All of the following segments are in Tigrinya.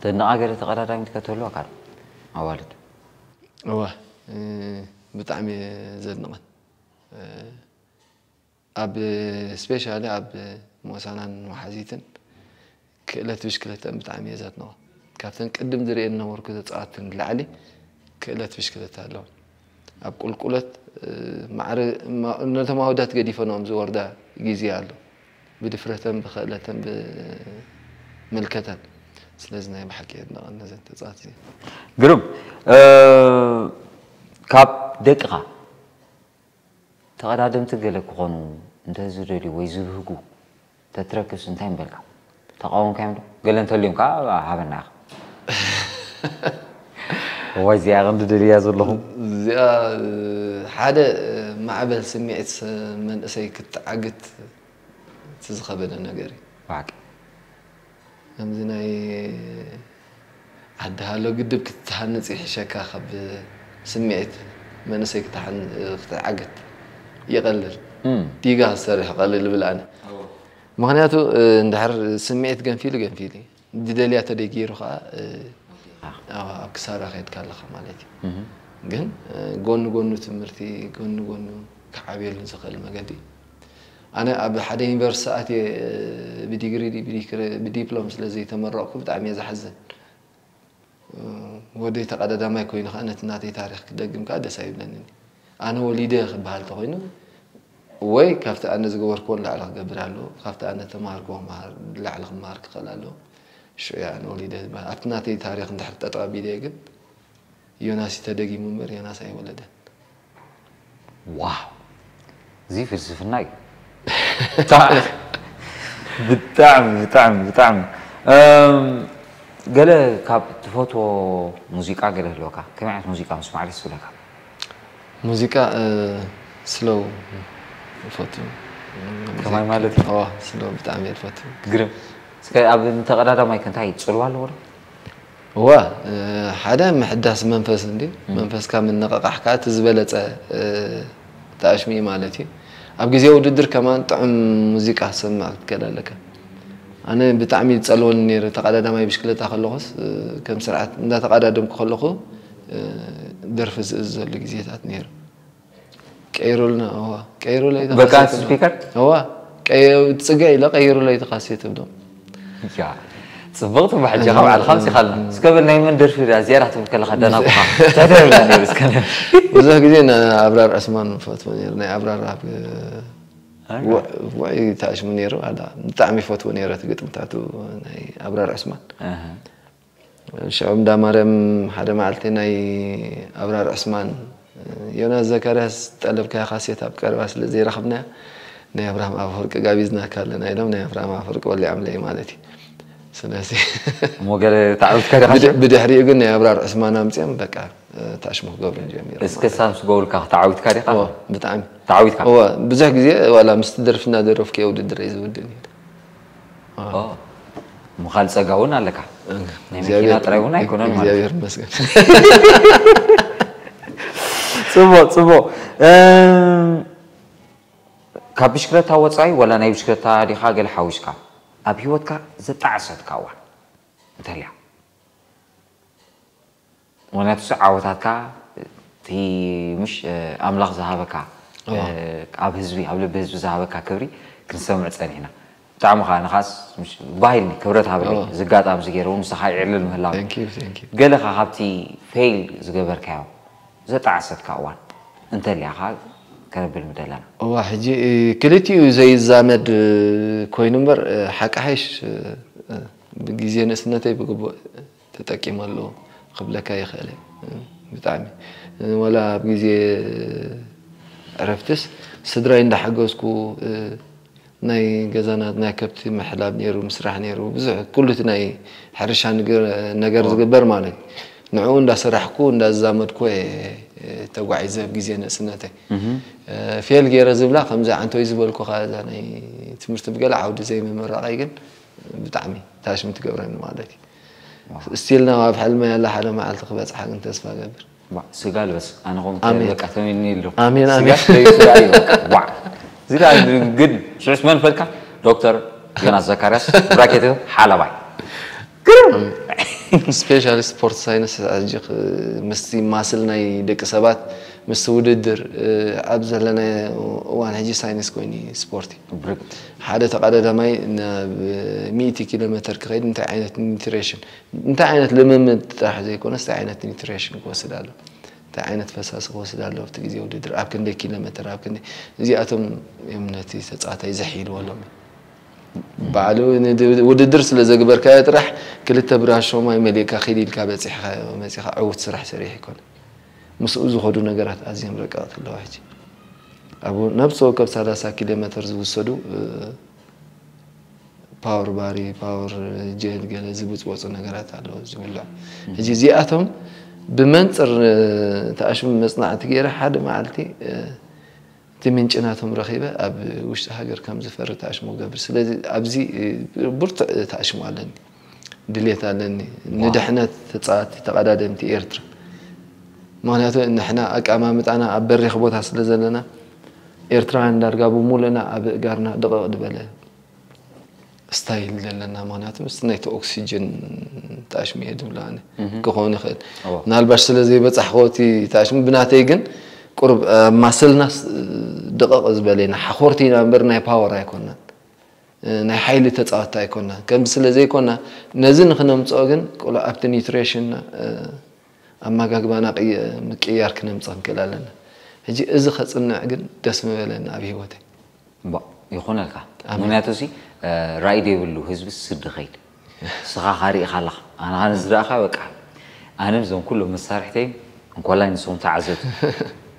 ተድንቓ ገለ ተቐዳዳሚት ከተህልወካ ዶ? ኣዋልድ። እዋ እ፣ ብጣዕሚ እየ ዘድንቐን። እ፣ ኣብ ስፔሻሊ ኣብ ሞሳናን መሓዚትን ክእለት ብሽክለተን ብጣዕሚ እየ ዘድንቐ። ካብተን ቅድም ዝርእየን ነበርኩ ተፃወትቲ ንላዕሊ ክእለት ብሽክለታ ኣለወን። ኣብ ቁልቁለት እ፣ ማዕረ ማ- ነቶም ኣወዳት ገዲፈንኦም ዝወርዳ ግዜ ኣሎ። ብድፍረተን ብክእለተን ብምልከተን። ስለዚ ናይ ብሓቂ የድንቐን ነዘን ተፃወትቲ እዚኣን። ግሩም እ፣ ካብ ደቅኻ ተቐዳደምቲ ገለ ክኾኑ እንተ ዝደልዩ ወይ ዝብህጉ ተትረክብስ እንታይ ምበልካ? ተቃወምካዮም ዶ? ገለ እንተልዮም ከዓ ሃበና ኢኻ። እዋይ እዚኣ ቀንዲ ደልያ ዘለኹ። እዚኣ ሓደ ማዕበል ስምዒት መንእሰይ ክትዓግት እቲ ዝኸበደ ነገር እዩ። ብሓቂ ከምዚ ናይ ዓዲ ሃሎ ግድብ ክትሃንፅ ይሕሸካ ካብ ስምዒት መንእሰይ ክትዓግት ይቐልል። ዲጋ ክትሰርሕ ይቐልል ይብል ኣነ። ምኽንያቱ እንድሕር ስምዒት ገንፊሉ ገንፊሉ እዩ። ዝደልያ ተደይ ገይሩ ከዓ ኣብ ክሳራ ከይድካ ኣለኻ ማለት እዩ። ግን ጎኒ ጎኑ ትምህርቲ ጎኒ ጎኑ ክዓብየሉ ዝኽእል መገዲ ኣነ ኣብ ሓደ ዩኒቨርሲቲ ኣትየ ብዲግሪ ብዲፕሎም ስለ ዘይተመረቕኩ ብጣዕሚ እየ ዝሓዝን። ወደይ ተቐዳዳማይ ኮይኑ ከዓ ነቲ ናተይ ታሪክ ክደግም ከዓ ደስ ኣይብለንን። ኣነ ወሊደ ክበሃል ተኮይኑ ወይ ካብቲ ኣነ ዝገበርክዎ ንላዕሊ ክገብር ኣለዎ፣ ካብቲ ኣነ ተማሃርክዎ ላዕሊ ክመሃር ክኽእል ኣለዎ። ሽዑ እየ ኣነ ወሊደ ዝበሃል። ኣብቲ ናተይ ታሪክ እንድሕር ጠጠው ኣቢለዮ ግን ዮናስ እዩ ተደጊሙ እምበር ዮናስ ኣይወለደን። ዋው እዚ ፍልስፍና እዩ። ብጣዕሚ ብጣዕሚ ብጣዕሚ ብጣዕሚ እም፣ ገለ ካብ ትፈትዎ ሙዚቃ ገለ ህልወካ ከመይ ዓይነት ሙዚቃ ምስማዕ ደስ ይብለካ? ሙዚቃ ስሎው ይፈቱ። ከማይ ማለት እዩ? ዋ ስሎው ብጣዕሚ እየ ዝፈቱ። ግርም እስከ ኣብ እንተቐዳዳማይ ከ እንታይ ፅልዋ ኣለዎ ዶ? እዋ ሓደ ምሕዳስ መንፈስ እንዲ መንፈስካ ምንቕቓሕ ከዓ እቲ ዝበለፀ ተኣሽሙ እዩ ማለት እዩ። ኣብ ግዜ ውድድር ከማን ጥዑም ሙዚቃ ክትሰምዕ ክትክእል ኣለካ። ኣነ ብጣዕሚ ይፀልወኒ ነይሩ ተቐዳዳማይ ብሽክለታ ከለኹስ ከም ስርዓት እንዳተቐዳደምኩ ከለኹ ደርፊ ዝእዝዘሉ ግዜታት ነይሩ። ቀይሩልና እዋ ቀይሩለይ በቃ ስፒከር እዋ ጽገ ኢለ ቀይሩለይ ተካሴት ብሎም ያ ጽብቕቲ ብሕጂ ካብ ዓልኻ ምጽኻልና እስከ በል ናይ መን ደርፊ እዚኣ ትብል ከለኻ ደናቑኻ እንታይ ትብላ ነይሩ እስከ ብዙሕ ግዜ ንኣብራር ዕስማን ፈትዎ ነይሩ ናይ ኣብራር ኣብ ውዕ ተኣሽሙ ነይሩ ኣላ ብጣዕሚ ፈትዎ ነይረ እቲ ግጥምታቱ ናይ ኣብራር ዕስማን ሽዑ እንዳ ማርያም ሓደ መዓልቲ ናይ ኣብራር ዕስማን ዮናስ ዘካርያስ ዝጠለብካዮ ካሴት ኣብ ቀረባ ስለ ዘይረኸብናዮ ናይ ኣብርሃም ኣፈወርቂ ጋቢዝናካ ኣለና ኢሎም ናይ ኣብርሃም ኣፈወርቂ በሊዖምለይ ማለት እዩ። ስለዚ እሞ ገለ ተዓዊትካ ዲኻ ሽዑ? ብድሕሪኡ ግን ናይ ኣብራር ዕስማን ኣምፅኦም በቃ ታሽሙ ክገብሩ ጀሚሮም እስከ ማለት እዩ። ሳምስ ጎብልካ ተዓዊትካ ዲኻ? እወ፣ ብጣዕሚ። ተዓዊትካ? እወ፣ ብዙሕ ግዜ ዋላ ምስቲ ደርፊ እናደረፍኩ እየ ውድድር እየ ዝውድእ ነይረ። ኦ፣ ምኻል ጸጋ እውን ኣለካ። ናይ መኪና ጥራይ እውን ኣይኮነን ማለት እዩ። እግዚኣብሔር ይመስገን። ጽቡቕ፣ ጽቡቕ። እም፣ ካብ ብሽክለታ ወጻኢ ወላ ናይ ብሽክለታ ዲኻ ገለ ሓዊስካ ኣብ ህይወትካ ዘጣዕሰትካ እዋን እንተልያ? ምክንያቱ ሱ ዓወታትካ እቲ ምሽ ኣምላኽ ዝሃበካ ኣብ ህዝቢ ኣብ ልቢ ህዝቢ ዝሃበካ ክብሪ ክንሰምዕ ጸኒሕና። ብጣዕሚ ከዓ ንኻስ ባሂልኒ ክብረት ሃብለይ እዚ ኣጋጣሚ እዚ ገይረ እውን ምሳኻ ይዕልል ምህላው። ገለ ከዓ ካብቲ ፌይል ዝገበርካዮ ዘጣዕሰትካ እዋን እንተልያ ከዓ ከነብል ምደለና። እዋ ሕጂ ክልቲኡ ዘይዛመድ ኮይኑ እምበር ሓቂ ሓይሽ ብግዜ ንእስነተይ ብግቡእ ተጠቂመሉ ክብለካ ይኽእል እየ። ብጣዕሚ ወላ ኣብ ግዜ ዕረፍትስ ስድራይ እንዳሓገዝኩ ናይ ገዛና ናይ ከብቲ ምሕላብ ነይሩ፣ ምስራሕ ነይሩ፣ ብዙሕ ኩሉ እቲ ናይ ሕርሻ ነገር ዝግበር ማለት እዩ። ንዕኡ እንዳሰራሕኩ እንዳዛመድኩ እየ ተጓዒዘ ኣብ ግዜ ንእስነተይ። ፌል ገይረ ዝብላ ከምዚ ዓንቶይ ዝበልኩኻ እዛ ናይ ትምህርቲ ብገለ ዓውዲ ዘይምምራቐይ ግን ብጣዕሚ ታሽም ትገብረኒ ማለት እዩ። ስቲልና ኣብ ሕልመይ ያላ ሓደ መዓልቲ ክበፅሓ ግን ተስፋ ገብር። ስጋ ልበስ ኣነ ኮም ኣሜን። በቃ ተመኒ ኣሎ ኣሜን፣ ስጋ ኣሜን። ደይ ስጋ እዩ በቃ። ዋ እዚ ዳ ግን ሽዑስ መን ፈልካ ዶክተር ዮናስ ዘካርያስ ብራኬት ሓላባይ ስፔሻሊ ስፖርት ሳይንስ ሕጂ ክ- ምስቲ ማስል ናይ ደቂ ሰባት ምስቲ ውድድር ኣብ ዘለናዮ እዋን ሕጂ ሳይንስ ኮይኑ እዩ ስፖርት እዩ። ብርግጥ ሓደ ተቐዳዳማይ ናብ ሚእቲ ኪሎ ሜትር ክኸይድ እንታይ ዓይነት ኒትሬሽን እንታይ ዓይነት ልምምድ ጥራሕ ዘይኮነስ እንታይ ዓይነት ኒትሬሽን ክወስድ ኣሎ እንታይ ዓይነት ፈሳሲ ክወስድ ኣሎ ኣብቲ ግዜ ውድድር ኣብ ክንደይ ኪሎ ሜትር ኣብ ክንደይ እዚኣቶም እዮም ነቲ ተፃዋታይ ዘሕይልዎ ሎም ባዕሉ ውድድር ስለ ዘግበርካዮ ጥራሕ ክልተ ብራሾ ማይ መሊእካ ኪድ ኢልካ በፂሕካ መፂኻ ዕውት ስራሕ ሰሪሕ ይኮነ ምስኡ ዝኸዱ ነገራት ኣዝዮም ረቀቕቲ ኣለዋ ሕጂ ኣብ ነብሲ ወከፍ ሰላሳ ኪሎ ሜትር ዝውሰዱ ፓወር ባሪ ፓወር ጀል ገለ ዝብፅወፁ ነገራት ኣለዉ ዝብልዕ ሕጂ እዚኣቶም ብመንፅር ተኣሽሙ መፅናዕቲ ገይረ ሓደ መዓልቲ እቲ ምንጭ ናቶም ረኺበ ኣብ ውሽጢ ሃገር ከም ዝፈሪ ተኣሽሙ ገብር ስለዚ ኣብዚ ብርቱዕ ተኣሽሙ ኣለኒ ድሌት ኣለኒ ንድሕነት ተፃዋቲ ተቐዳደምቲ ኤርትራ ምክንያቱ ንሕና ኣቀማምጣና ኣብ በሪኽ ቦታ ስለ ዘለና ኤርትራውያን ዳርጋ ብሙሉእና ኣብ እጋርና ድቕቕ ዝበለ ስታይል ዘለና ምክንያቱ ምስ ናይቲ ኦክሲጅን ታሽሚ እየ ዝብሎ ኣነ ክኸውን ይኽእል ምናልባሽ ስለ ዘይበፃሕኮ እቲ ታሽሚ ብናተይ ግን ቁርብ ማስልናስ ድቕቕ ዝበለ ኢና ሓኾርቲ ኢና እምበር ናይ ፓወር ኣይኮናን ናይ ሓይሊ ተፃወታ ኣይኮናን ከምዚ ስለ ዘይኮና ነዚ ንክነምፅኦ ግን ቁሉዕ ኣብቲ ኒትሬሽንና ኣመጋግባና ምቅያር ክነምፅእ ክንክእል ኣለና ሕጂ እዚ ከፅንዕ ግን ደስ ምበለኒ ኣብ ሂወተይ ይኾነልካ ምክንያቱ ሲ ራእይ ዘይብሉ ህዝቢ ስዲ ኸይድ ስኻ ካሪእኻ ኣለኻ ኣነ ኻነ ዝረእኻ በቃ ኣነ ዞም ኩሎም መሳርሕተይ እንኮላይ ንስኹም ተዓዘብቲ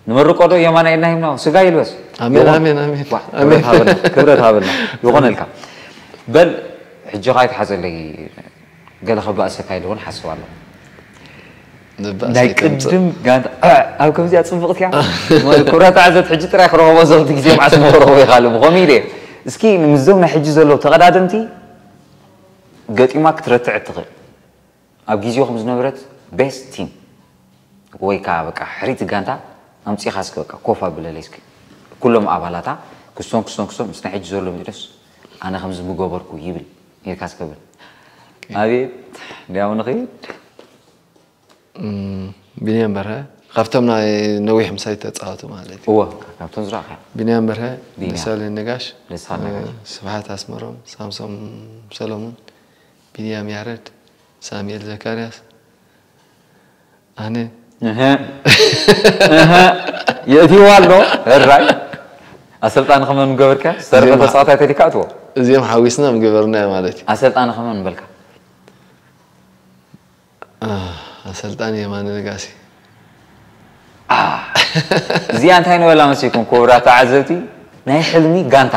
ንመርቆ ዶ የማና ኢልና ሂምና ስጋ ይልበስ ኣሜን ኣሜን ኣሜን ክብረት ሃበልና ክብረት ሃበልና ይኾነልካ በል ሕጂ ኻይትሓዘለይ ገለ ከባእሰካ ኢሉ እውን ሓስብ ኣለኹ ናይ ቅድም ጋንታ ኣብ ከምዚኣ ፅብቕቲ እያ ኩብራ ተዓዘብቲ ሕጂ ጥራይ ክረኸቦ ዘብቲ ግዜ መዓስ መረኸቦ ይኻሉ ብኸምኡ ኢለ እስኪ ምስዞም ናይ ሕጂ ዘለዉ ተቐዳደምቲ ገጢማ ክትረትዕ እትኽእል ኣብ ግዜኹም ዝነበረት ቤስት ቲም ወይ ከዓ በቃ ሕሪቲ ጋንታ ኣምፂኻ እስኪ በቃ ኮፍ ኣብለለይ እስኪ ኩሎም ኣባላታ ክሶም ክሶም ክሶም ምስ ናይ ሕጂ ዘሎ ሚድረስ ኣነ ከምዚ ምገበርኩ ይብል ኢልካ እስከብል ኣቤት እንዲያው ንኽይድ ቢንያም በርሀ ካብቶም ናይ ነዊሕ ምሳይ ተፃወቱ ማለት እዩ እወ ካብቶም ዝረእኻ ቢንያም በርሀ ቢንያም። ደሳለኝ ነጋሽ ደሳለኝ ነጋሽ። ስብሓት ኣስመሮም ሳምሶም ሰሎሙን ቢንያም ያረድ ሳሙኤል ዘካርያስ ኣነ እህ እህ የእቲዋ ኣሎ እራይ ኣሰልጣኒ ከመን ገበርካ ሰርፈ ዜማ። ተፃዋታይ ተሊካ እትዎ እዚኦም ሓዊስና ምገበርናዮ ማለት እዩ ኣሰልጣኒ ከመን በልካ ኣሰልጣኒ የማነ ነጋሲ እዚኣ እንታይ ነበላ መሲልኩም ክቡራት ተዓዘብቲ ናይ ሕልሚ ጋንታ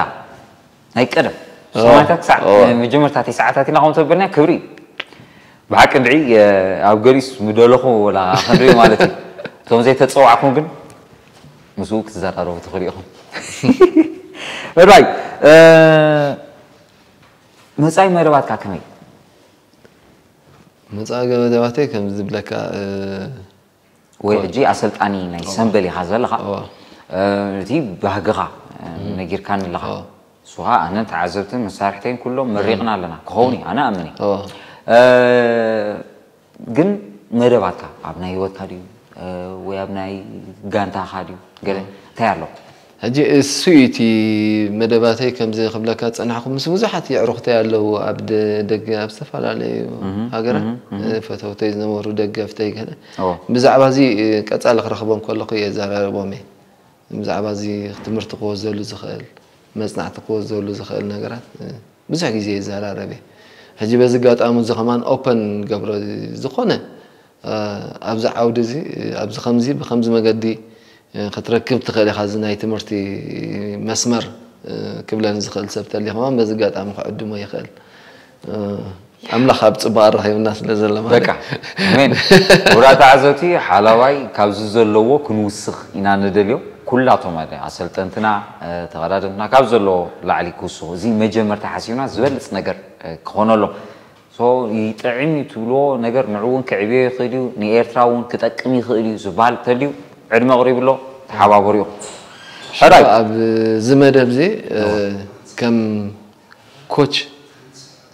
ናይ ቀደም ሰማንታ ክሳዕ መጀመርታ ሰዓታት ኢና ከም ተበልና ክብሪ ብሓቂ እንድዒ ኣብ ገሊስ ምደለኹ ወላ ክንርኢ ማለት እዩ እቶም ዘይተፀዋዕኩም ግን ምስኡ ክትዘራረቡ ትኽእሉ ኢኹም ራይ መፃኢ መደባትካ ከመይ መፃኢ መደባተይ ከም ዝብለካ ወይ ሕጂ ኣሰልጣኒ ናይ ሰምበል ኢኻ ዘለኻ እቲ ባህግኻ ነጊርካኒ ኣለኻ ንሱኻ ኣነን ተዓዘብትን መሳርሕተይን ኩሎም መሪቕና ኣለና ክኸውን እዩ ኣነ ኣምን ግን መደባትካ ኣብ ናይ ህይወትካ ድዩ ወይ ኣብ ናይ ጋንታኻ ድዩ ገለ እንታይ ኣሎ ሕጂ እሱ እቲ መደባተይ ከምዚ ክብለካ ዝፀናሕኩ ምስ ብዙሓት የዕሩኽተይ ኣለዉ ኣብ ደገ ኣብ ዝተፈላለዩ ሃገራት ፈተውተይ ዝነበሩ ደገፍተይ ገለ ብዛዕባ እዚ ቀፃሊ ክረኽቦም ከለኹ እየ ዘራርቦም እየ ብዛዕባ እዚ ትምህርቲ ክወዘሉ ዝኽእል መፅናዕቲ ክወዘሉ ዝኽእል ነገራት ብዙሕ ግዜ ይዘራረብ እየ ሕጂ በዚ ኣጋጣሚ እዚ ከማን ኦፐን ገብሮ ዝኾነ ኣብዚ ዓውዲ እዚ ኣብዚ ከምዚ ብከምዚ መገዲ ክትረክብ ትኽእል ኢኻ እዚ ናይ ትምህርቲ መስመር ክብለኒ ዝኽእል ሰብ ተልዩ ከማን በዚ ኣጋጣሚ ክዕድሞ ይኽእል ኣምላኽ ኣብ ጽቡቕ ኣራኺብና ስለ ዘሎ ማለት በቃ ኣሜን። ውራ ተዓዘብቲ ሓላዋይ ካብዚ ዘለዎ ክንውስኽ ኢና ንደልዮ። ኩላቶም ኣደ ኣሰልጠንትና፣ ተቐዳደምትና ካብ ዘለዎ ላዕሊ ክውስኹ፣ እዚ መጀመርታ ሓሲብና ዝበልጽ ነገር ክኾነሎም። ይጥዕም እዩ ትብልዎ ነገር ንዑ እውን ክዕብዮ ይኽእል እዩ፣ ንኤርትራ እውን ክጠቅም ይኽእል እዩ ዝበሃል ተልዩ ዕድመ ኣቕሪቡ ኣሎ። ተሓባበሩ ኢኹም። ሕራይ ኣብዚ መደብ እዚ ከም ኮች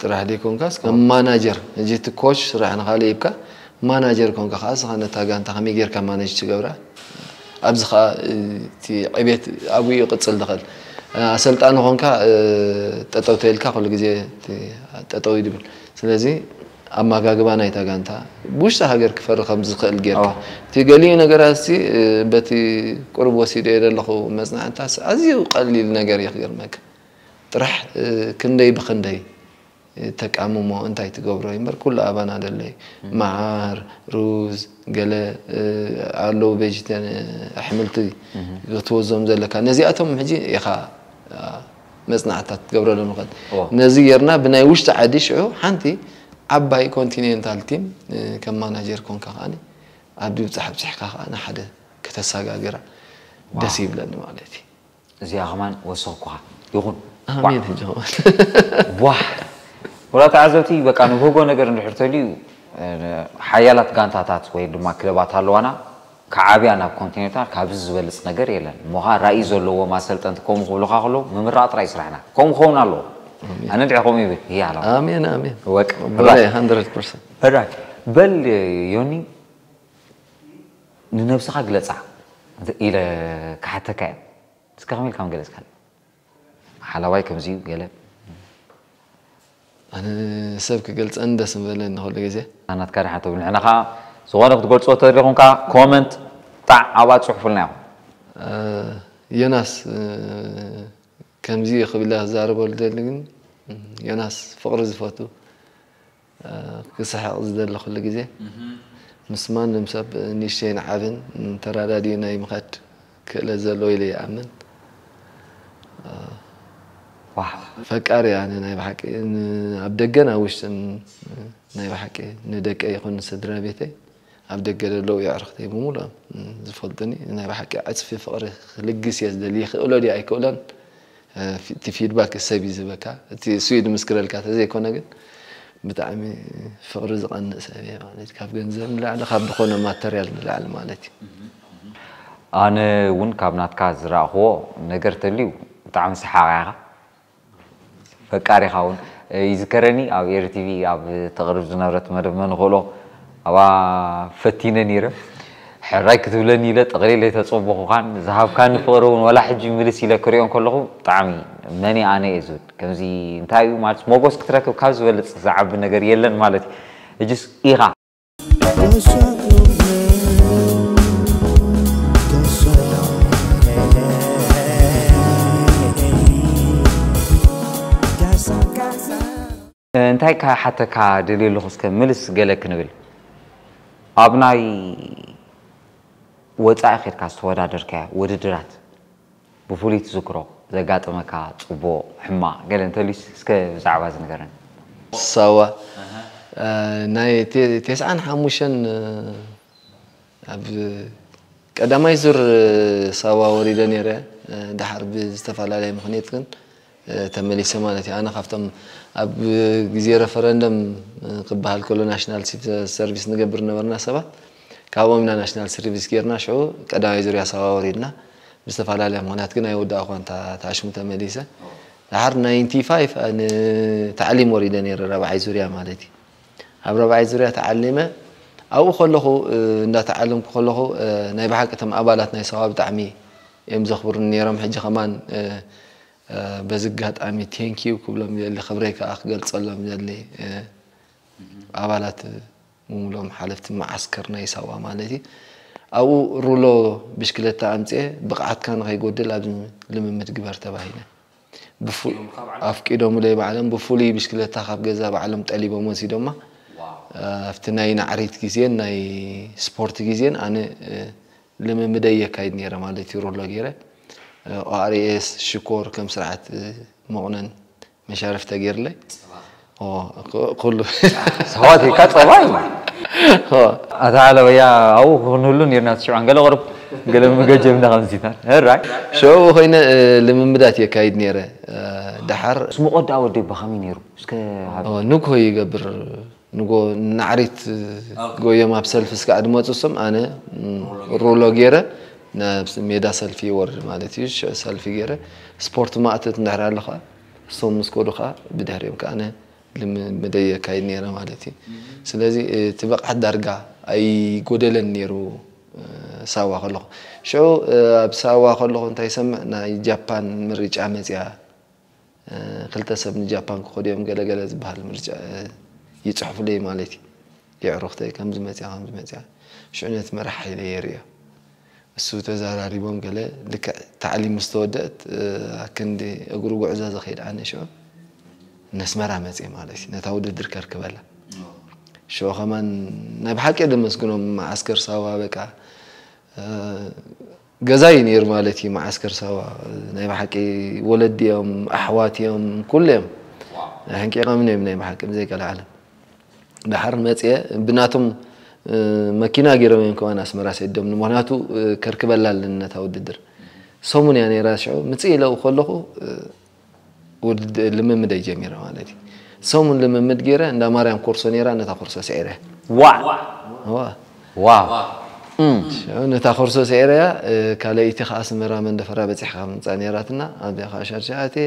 ጥራሕ ዘይኮንካስ ከም ማናጀር፣ እዚ እቲ ኮች ስራሕ ንኻልእ ይብካ፣ ማናጀር ኮንካ ከዓ ስኻ ነታ ጋንታ ከመይ ጌርካ ማነጅ ትገብራ፣ ኣብዚ ከዓ እቲ ዕቤት ኣብኡ ይቕፅል ዝኽእል። ኣሰልጣኒ ኮንካ ጠጠው ተይልካ ኩሉ ግዜ ጠጠው ይድብል። ስለዚ ኣመጋግባ ናይታ ጋንታ ብውሽጢ ሃገር ክፈሪ ከም ዝኽእል ጌርካ፣ እቲ ገሊኡ ነገራት ሲ በቲ ቁሩብ ወሲደ ዘለኹ መፅናዕታስ ኣዝዩ ቀሊል ነገር እዩ ክገርመካ። ጥራሕ ክንደይ ብክንደይ ተቃምሞ እንታይ ትገብሮ እምበር ኩሉ ኣባና ደለይ መዓር ሩዝ ገለ ኣለዉ ቬጅተን ኣሕምልቲ ክትወዞም ዘለካ ነዚኣቶም ሕጂ ኢኻ መፅናዕታት ክትገብረሎም ይኽእል። ነዚ ጌርና ብናይ ውሽጢ ዓዲ ሽዑ ሓንቲ ዓባይ ኮንቲኔንታል ቲም ከም ማናጀር ኮንካ ከዓኒ ኣብ ድብፃሕ ኣብፂሕካ ከዓኒ ሓደ ከተሰጋግራ ደስ ይብለኒ ማለት እዩ። እዚኣ ከማን ወሰኽኩኻ ይኹን። ኣሜን። ሕጂ ከማን ቧ ወላ ተዓዘብቲ በቃ ንብህጎ ነገር እንድሕር ተልዩ ሓያላት ጋንታታት ወይ ድማ ክለባት ኣለዋና። ክዓብያ ናብ ኮንቲኔንታል ካብዚ ዝበልፅ ነገር የለን። እሞ ኸዓ ራእይ ዘለዎም ኣሰልጠንቲ ከምኡ ክብሉኻ ከለዉ ምምራቕ ጥራይ ስራሕና። ከምኡ ክኸውን ኣለዎ። ኣነ እንድዒ ከምኡ ይብል። ይህ ኣለዋ። ኣሜን ኣሜን። ወቅ ብላይ hundred percent። ሕራይ በል ዮኒ ንነብስኻ ግለጻ ኢለ ክሓተካ እየ። እስከ ከመይ ኢልካ ምገለጽካኒ? ሓላዋይ ከምዚ እዩ ገለ ኣነ ሰብ ክገልጸኒ ደስ ምበለኒ ኩሉ ግዜ። ናትካ ድሓን ተብል ንሕና ከዓ ዝኾነ ክትገልጾ ተደሊ ኹንካ ኮመንት ጣዕ ኣብኣ ጽሑፉልና ኢኹም። ዮናስ ከምዚ እዩ ክብል ክዛረበሉ ደሊ ግን ዮናስ ፍቕሪ ዝፈቱ ክስሕቕ ዝደሊ ኩሉ ግዜ ምስ ማንም ሰብ ንእሽተይን ዓብን ተረዳዲኡ ናይ ምኻድ ክእለት ዘለዎ ኢለ ይኣምን። ዋው ፈቃሪ ኣነ ናይ ብሓቂ ኣብ ደገን ኣብ ውሽጥን ናይ ብሓቂ ንደቀይ ይኹን ንስድራ ቤተይ ኣብ ደገ ዘለዉ የዕርኽተይ ብምሉኦም ዝፈልጡኒ ናይ ብሓቂ ዕፅፊ ፍቕሪ ክልግስ እየ ዝደሊ። ይኽእሎ ድዩ ኣይክእሎን እቲ ፊድባክ ሰብ እዩ ዝህበካ። እቲ እሱ እዩ ዝምስክረልካ ተዘይኮነ ግን ብጣዕሚ ፍቕሪ ዝቐንእ ሰብ እየ ማለት ካብ ገንዘብ ንላዕሊ ካብ ዝኾነ ማተርያል ንላዕሊ ማለት እዩ። ኣነ እውን ካብ ናትካ ዝረእኽዎ ነገር ተልዩ ብጣዕሚ ሰሓቕ ኢኻ። ፈቃሪኻ እውን ይዝከረኒ ኣብ ኤሪ ቲቪ ኣብ ተቕርብ ዝነበረት መደብ መን ንኽእሎ ኣብኣ ፈቲነ ነይረ። ሕራይ ክትብለኒ ኢለ ጠቕሊለ ኣይተጸበኹኻን። ዝሃብካኒ ፍቕሪ እውን ዋላ ሕጂ ምልስ ኢለ ክሪኦ እንከለኹ ብጣዕሚ መን ኣነ እየ ዝብል። ከምዚ እንታይ እዩ ማለት ሞጎስ ክትረክብ ካብ ዝበልጽ ዝዓቢ ነገር የለን ማለት እዩ። ሕጅስ ኢኻ። እንታይ ክሓተካ ደልየ ኣለኹ እስከ ምልስ ገለ ክንብል ኣብ ናይ ወፃኢ ኬድካ ዝተወዳደርካዮ ውድድራት ብፍሉይ ትዝክሮ ዘጋጠመካ ፅቡቕ ሕማቕ ገለ እንተልዩስ እስከ ብዛዕባ እዚ ንገረኒ። ሳዋ ናይ ቴስዓን ሓሙሽተን ኣብ ቀዳማይ ዙር ሳዋ ወሪደ ነይረ። ድሓር ብዝተፈላለየ ምኽንያት ግን ተመሊሰ ማለት እዩ። ኣነ ካብቶም ኣብ ግዜ ረፈረንደም ክበሃል ከሎ ናሽናል ሲቪል ሰርቪስ ንገብር ነበርና ሰባት ካብኦም ኢና ናሽናል ሰርቪስ ጌርና ሽዑ ቀዳማይ ዙርያ ሳዋ ወሪድና ብዝተፈላለየ ምኽንያት ግን ኣይወዳእኳን ተኣሽሙ ተመሊሰ። ድሓር ናይንቲ ፋይቭ ንታዕሊም ወሪደ ነይረ ራብዓይ ዙርያ ማለት እዩ። ኣብ ራብዓይ ዙርያ ተዓሊመ ኣብኡ ከለኹ እንዳተዓለምኩ ከለኹ ናይ ብሓቂ እቶም ኣባላት ናይ ሳዋ ብጣዕሚ እዮም ዘኽብሩኒ ነይሮም። ሕጂ ከማን በዚ ኣጋጣሚ ቴንኪዩ ክብሎም ይደሊ፣ ክብረይ ከዓ ክገልፀሎም ይደሊ። ኣባላት ምሙሎም ሓለፍቲ መዓስከር ናይ ሳዋ ማለት እዩ። ኣብኡ ሩሎ ብሽክለታ ኣምፅኤ ብቕዓትካ ንኸይጎድል ኣብዚ ልምምድ ግበር ተባሂለ። ኣፍቂዶምለይ ባዕሎም ብፍሉይ ብሽክለታ ካብ ገዛ ባዕሎም ጠሊቦም ወሲዶማ። ኣብቲ ናይ ናዕሪት ግዜን ናይ ስፖርት ግዜን ኣነ ልምምደይ የካይድ ነይረ ማለት እዩ። ሩሎ ገይረ ኦኣርኤስ ሽኮር ከም ስርዓት መቑነን መሻርፍ ተገይርለይ ኩሉ ሰዋት ኢልካ ጸባይ ኣታ ኣለበያ ኣብኡ ክንህሉ ነርና ትሽዑን ገለ ቁርብ ገለ መገጀብና ከምዚታት ራይ ሽዑ ኮይነ ልምምዳት የካይድ ነይረ። ደሓር ስሙቆ ዳ ወደይ ብኸመይ ነይሩ እስከ ንግሆ ይገብር ንጎ ናዕሪት ጎዮም ኣብ ሰልፊ እስካዕ ድመፁ እሶም ኣነ ሩሎ ገይረ ናብ ሜዳ ሰልፊ ይወርድ ማለት እዩ። ሰልፊ ገይረ ስፖርት ማእተት እንድሕር ኣለኻ እሶም ምስ ኮዱ ከዓ ብድሕሪኦም ከዓ ኣነ ልምምደይ የካይድ ነይረ ማለት እዩ። ስለዚ እቲ ብቕዓት ዳርጋ ኣይጎደለን ነይሩ። ሳዋ ከለኹ ሽዑ ኣብ ሳዋ ከለኹ እንታይ ይሰምዕ ናይ ጃፓን ምርጫ መፅያ ክልተ ሰብ ንጃፓን ክኸዱ እዮም ገለገለ ዝበሃል ምርጫ ይፅሕፉለይ ማለት እዩ። የዕሩኽተይ ከምዚ መፅያ ከምዚ መፅያ ሽዑ ነቲ መራሕ ሓይለ የርእዮ። እሱ ተዘራሪቦም ገለ ልክዕ ታዕሊም ምስ ተወደእት ኣክንዲ እግሩ ጉዕዞ ዝኸይድ ኣነ ሽዑ ነስመራ መፅየ ማለት እዩ ነታ ውድድር ከርክበላ። ሽዑ ከማን ናይ ብሓቂ ደመስግኖም መዓስከር ሳዋ በቃ ገዛይ ነይሩ ማለት እዩ። መዓስከር ሳዋ ናይ ብሓቂ ወለዲ እዮም ኣሕዋት እዮም ኩሉ እዮም ሕንቂቐምን እዮም ናይ ብሓቂ ብዘይቀልዓለም። ድሓር መፅየ ብናቶም መኪና ገይሮም እዮም ከማን ኣስመራ ሰዲዶምኒ። ምክንያቱ ከርክበላ ኣለኒ ነታ ውድድር። ሰሙን እያ ነይራ ሽዑ ምፅእ ኢለ ከለኹ ውድድር ልምምደይ ጀሚረ ማለት እዩ። ሰሙን ልምምድ ገይረ እንዳ ማርያም ኮርሶ ነይራ ነታ ኮርሶ ስዒረ። ዋ ዋ ዋ ሽዑ ነታ ኮርሶ ስዒረያ ካልኣይቲ ከዓ ኣስመራ መንደፈራ በፂሕካ ምፃ ነይራትና ኣብዚኣ ከዓ ሻርሻ ኣትየ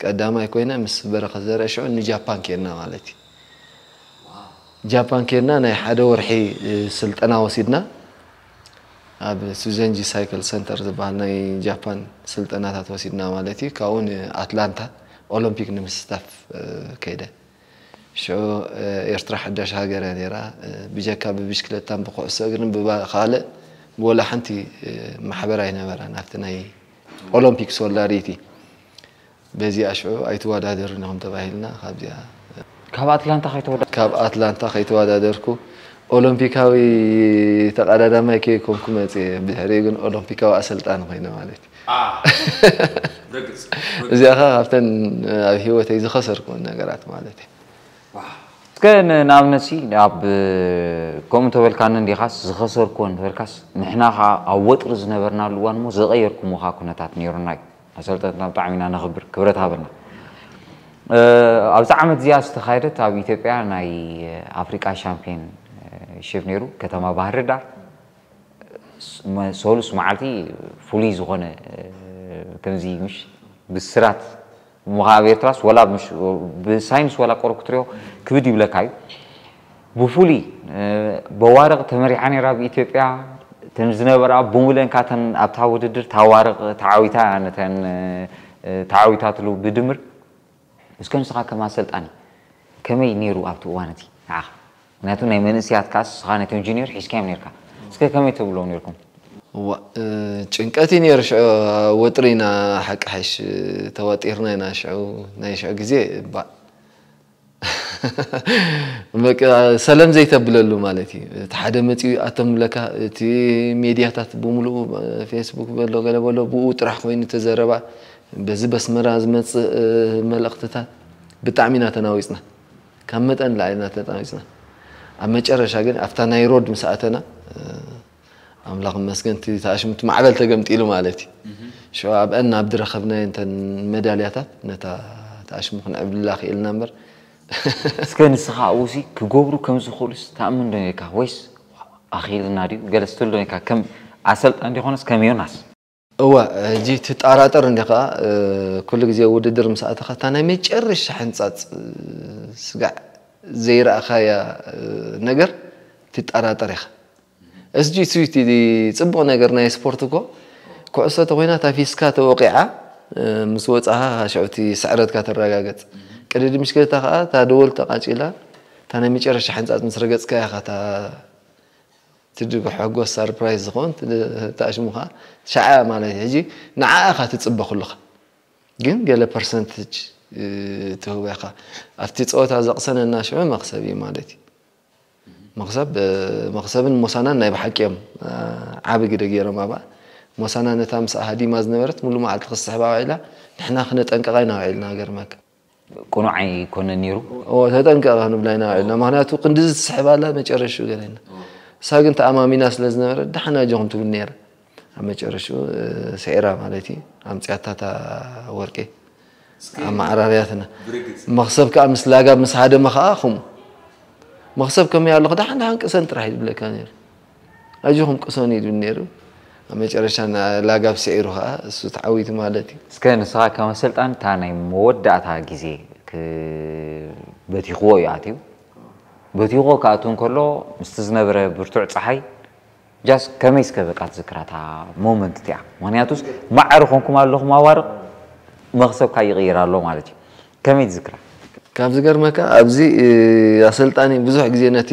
ቀዳማይ ኮይነ ምስ በረኸት ዘርአ ሽዑ ንጃፓን ኬድና ማለት እዩ። ጃፓን ኬድና ናይ ሓደ ወርሒ ስልጠና ወሲድና ኣብ ሱዘንጂ ሳይክል ሰንተር ዝበሃል ናይ ጃፓን ስልጠናታት ወሲድና ማለት እዩ። ካብኡ ንኣትላንታ ኦሎምፒክ ንምስታፍ ከይደ። ሽዑ ኤርትራ ሓዳሽ ሃገር እያ ነይራ። ብጀካ ብብሽክለታን ብኩዕሶ እግርን ብካልእ ብወላ ሓንቲ ማሕበር ኣይነበራን ኣብቲ ናይ ኦሎምፒክ ሶላሪቲ። በዚኣ ሽዑ ኣይትወዳደርን ኢኹም ተባሂልና ካብዚኣ ካብ ኣትላንታ ከይተወዳ ካብ ኣትላንታ ከይተወዳደርኩ ኦሎምፒካዊ ተቐዳዳማይ ከይኮንኩ መፅየ። ብድሕሪኡ ግን ኦሎምፒካዊ ኣሰልጣኒ ኮይነ ማለት እዩ። እዚኣ ከዓ ካብተን ኣብ ህይወተይ ዝኸሰርኩን ነገራት ማለት እዩ። እስከ ንኣብነት ሲ ኣብ ከምኡ እንተበልካኒ እንዲኻስ ዝኸሰርኩዎ እንተበልካስ ንሕና ከዓ ኣብ ወጥሪ ዝነበርናሉ እዋን እሞ ዘቐየርኩምዎ ከዓ ኩነታት ነይሩና እዩ። ኣሰልጠንትና ብጣዕሚ ኢና ነኽብር ክብረት ሃበልና። ኣብዛ ዓመት እዚኣ ዝተኻየደት ኣብ ኢትዮጵያ ናይ ኣፍሪቃ ሻምፒዮን ሽፕ ነይሩ ከተማ ባህርዳር ሰሉስ መዓልቲ ፍሉይ ዝኾነ ከምዚ ምሽ ብስራት እሞ ኣብ ኤርትራስ ወላ ምሽ ብሳይንስ ወላ ቆረብ ክትሪኦ ክብድ ይብለካ እዩ። ብፍሉይ በዋርቕ ተመሪሓ ነይራ ብኢትዮጵያ እተን ዝነበራ ብምለን ካተን ኣብታ ውድድር ታዋርቕ ተዓዊታ ነተን ተዓዊታትሉ ብድምር እስከ ንስኻ ከም ኣሰልጣኒ ከመይ ነይሩ ኣብቲ እዋን እቲ ንዓኻ? ምክንያቱ ናይ መንእስያት ከኣ ንስኻ ነቶም ጁኒየር ሒዝካዮም ነርካ እስከ ከመይ ትብሎም ነርኩም? እዋ ጭንቀት እዩ ነይሩ ሽዑ ወጥሪ ኢና ሓቂ ሓይሽ ተዋጢርና ኢና ሽዑ ናይ ሽዑ ግዜ እባ በቃ ሰለም ዘይተብለሉ ማለት እዩ። እቲ ሓደ መፂኡ ኣቶም ብለካ እቲ ሜድያታት ብምሉኡ ፌስቡክ በሎ ገለ በሎ ብኡ ጥራሕ ኮይኑ ተዘረባ በዚ በስመራ ዝመፅእ መልእኽትታት ብጣዕሚ ኢና ተናዊፅና። ካብ መጠን ንላዕሊ ኢና ተናዊፅና። ኣብ መጨረሻ ግን ኣብታ ናይ ሮድ ምስ ኣተና ኣምላኽ ይመስገን እቲ ተኣሽሙ እቲ ማዕበል ተገምጢሉ ማለት እዩ። ሽዑ ኣብአን ናብ ዝረኸብናዮ እንተን መዳልያታት ነታ ተኣሽሙ ክነዕብልላ ክኢልና እምበር እስከ ንስኻ ኣብኡሲ ክገብሩ ከም ዝኽእሉስ ትኣምን ዶ ነርካ ወይስ ኣኺልና ድዩ ገለ ስትብል ዶ ነርካ ከም ኣሰልጣን ዲኾነስ ከም ዮናስ? እወ ሕጂ ትጠራጠር እንዲኻ ኩሉ ግዜ ውድድር ምስ ኣተኻ እታ ናይ መጨረሻ ሕንጻጽ ስጋዕ ዘይረኣኻያ ነገር ትጠራጠር ኢኻ። እስጂ ስዊቲ ጽቡቕ ነገር ናይ ስፖርት እኮ ኩዕሶ ተኾይና ታፊስካ ተወቂዓ ምስ ወጻኻ ሽዑ እቲ ስዕረትካ ተረጋገጽ። ቅድዲ ምሽክለታ ከኣ እታ ደወል ተቓጺላ እታ ናይ መጨረሻ ሕንጻጽ ምስ ረገጽካያ ኢኻ እታ ትድግሖ ሕጎስ ሳርፕራይዝ ዝኸውን ተኣሽሙኻ ሸዓ ማለት እዩ። ሕጂ ንዓኻ ትጽበ ኩልኻ ግን ገለ ፐርሰንትጅ ትህቦ ኢኻ። ኣብቲ ጸወታ ዘቕሰነና ሽዑ መኽሰብ እዩ ማለት እዩ። መኽሰብ መኽሰብን ሞሳናን ናይ ብሓቂ እዮም ዓቢ ግደ ገይሮም ኣብኣ። ሞሳና ነታ ምስኣ ሃዲማ ዝነበረት ሙሉ መዓልቲ ክስሕባ ውዒላ ንሕና ክነጠንቅቓ ኢና ውዒልና ገርመካ። ቅኑዕ ኣይኮነን ነይሩ። ተጠንቀቕ ክንብላ ኢና ውዒልና። ምክንያቱ ክንድዚ ትስሕብ ኣላ መጨረሽኡ ገለ ኢልና። እሳ ግን ተኣማሚና ስለ ዝነበረ ደሓን ኣጆኹም ትብል ነይራ። ኣብ መጨረሽኡ ስዒራ ማለት እዩ። ኣምፅያታ እታ ወርቂ ኣመዓራርያትና። መኽሰብ ከዓ ምስ ላጋብ ምስ ሃደመ ከዓ ከምኡ። መኽሰብ ከመይ ኣለኹ ደሓን ደሓን ቅሰን ጥራሕ እዩ ዝብለካ ነይሩ። ኣጆኹም ቅሰኑ እዩ ዝብል ነይሩ። ኣብ መጨረሻ ላጋብ ስዒሩ ከዓ እሱ ተዓዊቱ ማለት እዩ። እስከ ንስኻ ከም ኣሰልጣኒ እታ ናይ መወዳእታ ግዜ በቲኽዎ እዩ ኣትዩ። በቲኽዎ ክኣቱ እንከሎ ምስቲ ዝነበረ ብርቱዕ ፀሓይ ጃስ ከመይ እስከ በቃ ትዝክራ እታ ሞመንት እቲኣ? ምክንያቱስ ማዕረ ኮንኩም ኣለኹም ኣዋርቕ መኽሰብካ ይቕይር ኣሎ ማለት እዩ። ከመይ ትዝክራ? ካብ ዝገርመካ ኣብዚ ኣሰልጣኒ ብዙሕ ግዜ ነቲ